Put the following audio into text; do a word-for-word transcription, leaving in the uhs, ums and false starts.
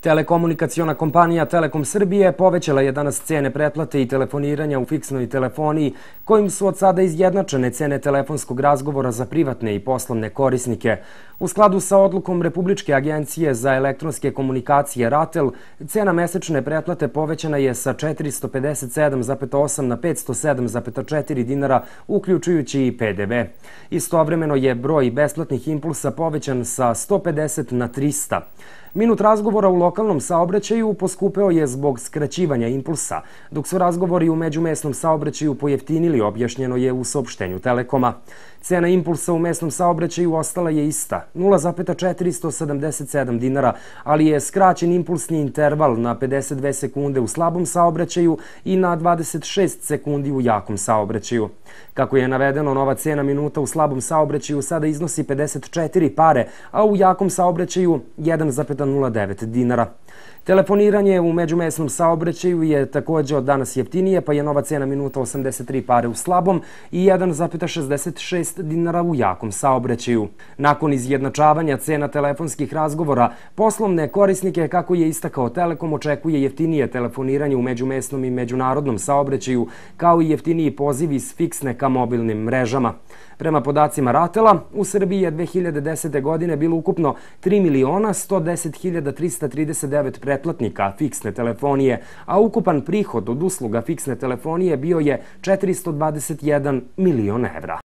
Telekomunikaciona kompanija Telekom Srbije povećala je danas cene pretplate i telefoniranja u fiksnoj telefoniji, kojim su od sada izjednačene cene telefonskog razgovora za privatne i poslovne korisnike. U skladu sa odlukom Republičke agencije za elektronske komunikacije RATEL, cena mesečne pretplate povećana je sa četiristo pedeset sedam zarez osam na petsto sedam zarez četiri dinara, uključujući i P D V. Istovremeno je broj besplatnih impulsa povećan sa sto pedeset na trista. Minut razgovora u lokalnom saobraćaju poskupeo je zbog skraćivanja impulsa, dok su razgovori u međumesnom saobraćaju pojeftinili, objašnjeno je u saopštenju Telekoma. Cena impulsa u mesnom saobraćaju ostala je ista, nula zarez četiristo sedamdeset sedam dinara, ali je skraćen impulsni interval na pedeset dve sekunde u slabom saobraćaju i na dvadeset šest sekundi u jakom saobraćaju. Kako je navedeno, nova cena minuta u slabom saobraćaju sada iznosi pedeset četiri pare, a u jakom saobraćaju jedan zarez nula devet dinara. Telefoniranje u međumesnom saobraćaju je također od danas jeftinije, pa je nova cena minuta osamdeset tri pare u slabom i jedan zarez šezdeset šest dinara u jakom saobraćaju. Nakon izjednačavanja cena telefonskih razgovora, poslovne korisnike, kako je istakao Telekom, očekuje jeftinije telefoniranje u međumesnom i međunarodnom saobraćaju, kao i jeftiniji pozivi s fiksne ka mobilnim mrežama. Prema podacima RATEL-a, u Srbiji je dve hiljade desete. godine bilo ukupno tri miliona sto deset hiljada trista trideset devet pretplatnika fiksne telefonije, a ukupan prihod od usluga fiksne telefonije bio je četiristo dvadeset jedan milion evra.